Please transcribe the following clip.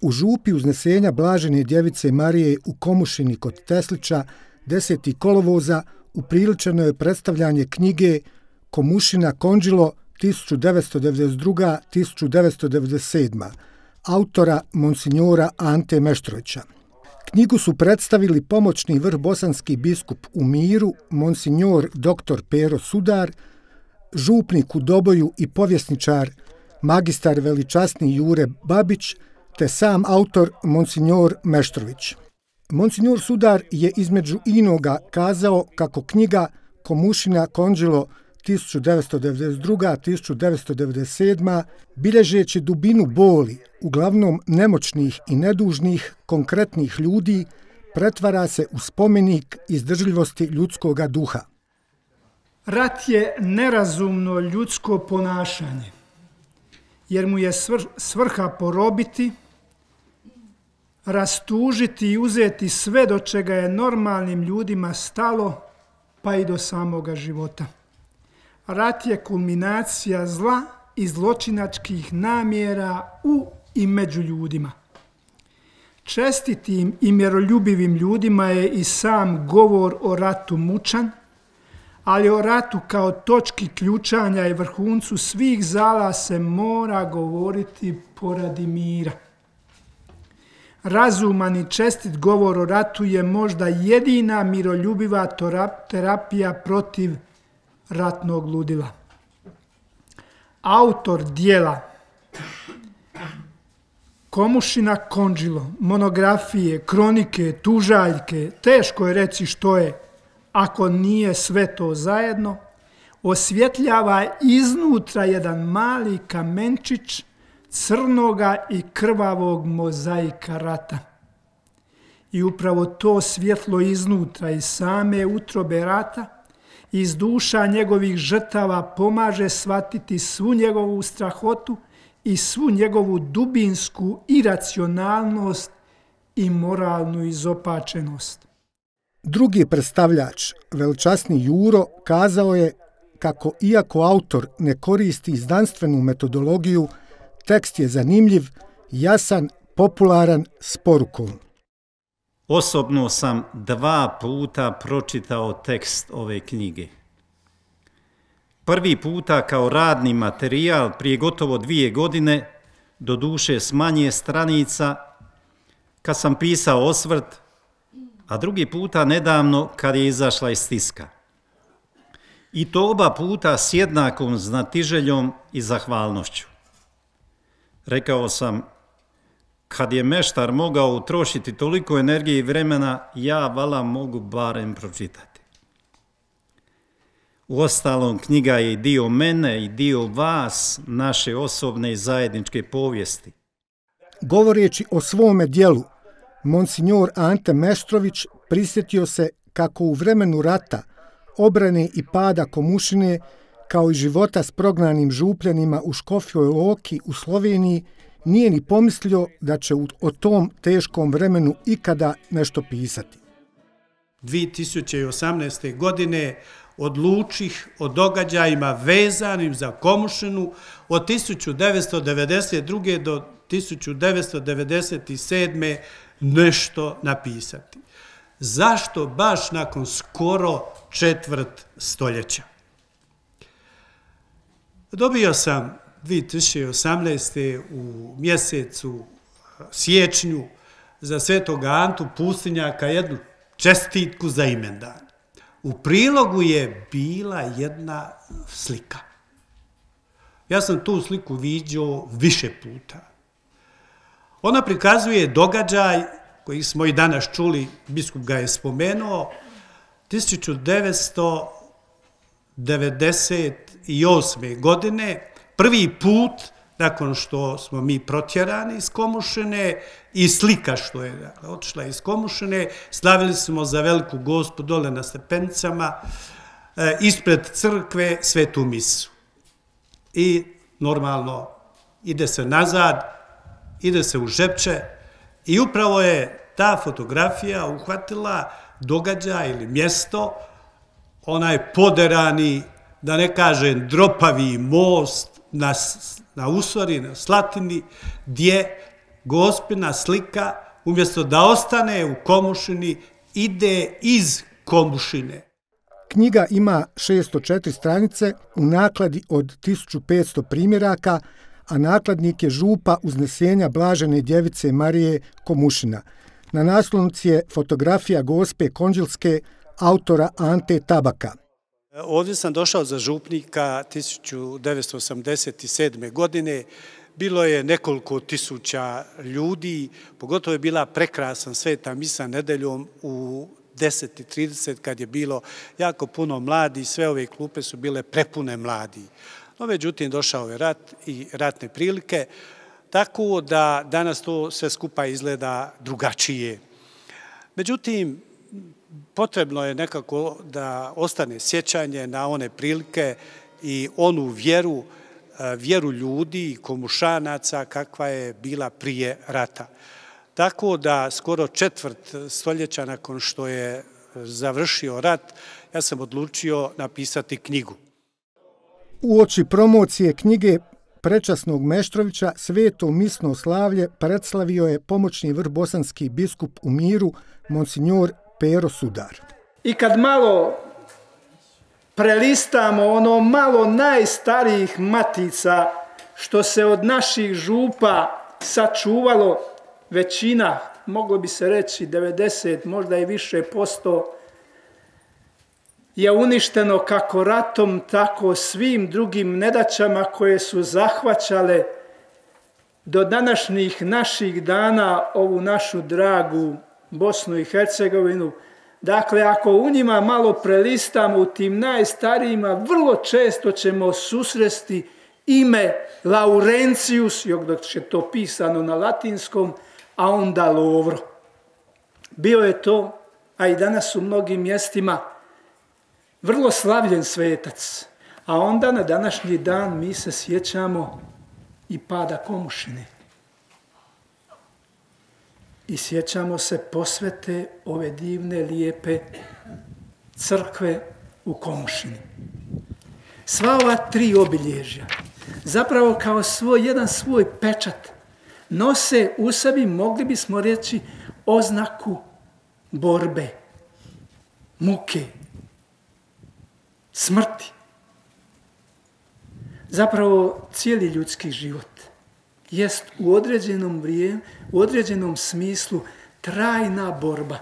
U župi uznesenja Blažene djevice Marije u Komušini kod Teslića 10. kolovoza upriličeno je predstavljanje knjige Komušina Konđilo 1992-1997. autora monsinjora Ante Meštrovića. Knjigu su predstavili pomoćni vrhbosanski biskup u Miru, monsinjor dr. Pero Sudar, župnik u Doboju i povjesničar magistar veličasni Jure Babić, te sam autor monsinjor Meštrović. Monsinjor Sudar je između inoga kazao kako knjiga Komušina Konđilo 1992-1997. bilježeći dubinu boli, uglavnom nemoćnih i nedužnih, konkretnih ljudi, pretvara se u spomenik izdržljivosti ljudskoga duha. Rat je nerazumno ljudsko ponašanje, jer mu je svrha porobiti, rastužiti i uzeti sve do čega je normalnim ljudima stalo, pa i do samoga života. Rat je kulminacija zla i zločinačkih namjera u i među ljudima. Čestitim i miroljubivim ljudima je i sam govor o ratu mučan, ali o ratu kao točki ključanja i vrhuncu svih zala se mora govoriti poradi mira. Razuman i čestit govor o ratu je možda jedina miroljubiva terapija protiv ratnog ludila. Autor dijela Komušina Konđilo, monografije, kronike, tužaljke, teško je reći što je, ako nije sve to zajedno, osvjetljava iznutra jedan mali kamenčić crnoga i krvavog mozaika rata. I upravo to svjetlo iznutra iz same utrobe rata, iz duša njegovih žrtava pomaže shvatiti svu njegovu strahotu i svu njegovu dubinsku iracionalnost i moralnu izopačenost. Drugi predstavljač, veličasni Juro, kazao je kako iako autor ne koristi znanstvenu metodologiju, tekst je zanimljiv, jasan, popularan, s porukom. Osobno sam 2 puta pročitao tekst ove knjige. Prvi puta kao radni materijal prije gotovo 2 godine, doduše s manje stranica, kad sam pisao osvrt, a drugi puta nedavno kad je izašla iz tiska. I to oba puta s jednakom znatiželjom i zahvalnošću. Rekao sam, kad je meštar mogao utrošiti toliko energije i vremena, ja vala mogu barem pročitati. Uostalom, knjiga je i dio mene i dio vas, naše osobne i zajedničke povijesti. Govoreći o svome dijelu, monsinjor Ante Meštrović prisjetio se kako u vremenu rata, obrane i pada Komušine, kao i života s prognanim župljanima u Škofjoj Loki u Sloveniji, nije ni pomislio da će o tom teškom vremenu ikada nešto pisati. 2018. godine odlučih o događajima vezanim za Komušinu od 1992. do 1997. nešto napisati. Zašto baš nakon skoro 1/4 stoljeća? Dobio sam 2018. u mjesecu siječnju za Svetog Antu Pustinjaka jednu čestitku za imendan. U prilogu je bila jedna slika. Ja sam tu sliku viđao više puta. Ona prikazuje događaj koji smo i danas čuli, biskup ga je spomenuo, 1998. godine, prvi put nakon što smo mi protjerani iz Komušine i slika što je otišla iz Komušine, slavili smo za Veliku Gospu dole na stepenicama, ispred crkve svetu misu. I normalno ide se nazad, ide se u Žepče i upravo je ta fotografija uhvatila događaj ili mjesto, onaj poderani, da ne kažem dropavi most na Usori, na Slatini, gdje Gospina slika, umjesto da ostane u Komušini, ide iz Komušine. Knjiga ima 604 stranice u nakladi od 1500 primjeraka, a nakladnik je župa Uznesenja Blažene djevice Marije Komušina. Na naslovnici je fotografija Gospe Konđilske, autora Ante Tabaka. Ovdje sam došao za župnika 1987. godine. Bilo je nekoliko tisuća ljudi, pogotovo je bila prekrasan sveta misa nedeljom u 10:30 kad je bilo jako puno mladi, sve ove klupe su bile prepune mladi. No, međutim, došao je rat i ratne prilike, tako da danas to sve skupa izgleda drugačije. Međutim, potrebno je nekako da ostane sjećanje na one prilike i onu vjeru ljudi, Komušanaca, kakva je bila prije rata. Tako da skoro četvrt stoljeća nakon što je završio rat, ja sam odlučio napisati knjigu. Uoči promocije knjige prečasnog Meštrovića sveto misno slavlje predslavio je pomoćni vrhbosanski biskup u Miru, monsignor Pero Sudar. I kad malo prelistamo ono malo najstarijih matica što se od naših župa sačuvalo, većina, moglo bi se reći 90, možda i više posto, je uništeno kako ratom, tako svim drugim nedaćama koje su zahvaćale do današnjih naših dana ovu našu dragu Bosnu i Hercegovinu. Dakle, ako u njima malo prelistamo, u tim najstarijima, vrlo često ćemo susresti ime Laurencius, dok je to pisano na latinskom, a onda Lovro. Bio je to, a i danas u mnogim mjestima, vrlo slavljen svetac. A onda na današnji dan mi se sjećamo i pada Komušine. I sjećamo se posvete ove divne, lijepe crkve u Komušini. Sva ova tri obilježja, zapravo kao jedan svoj pečat, nose u sebi, mogli bismo reći, oznaku borbe, muke, smrti. Zapravo cijeli ljudski život jest u određenom smislu trajna borba.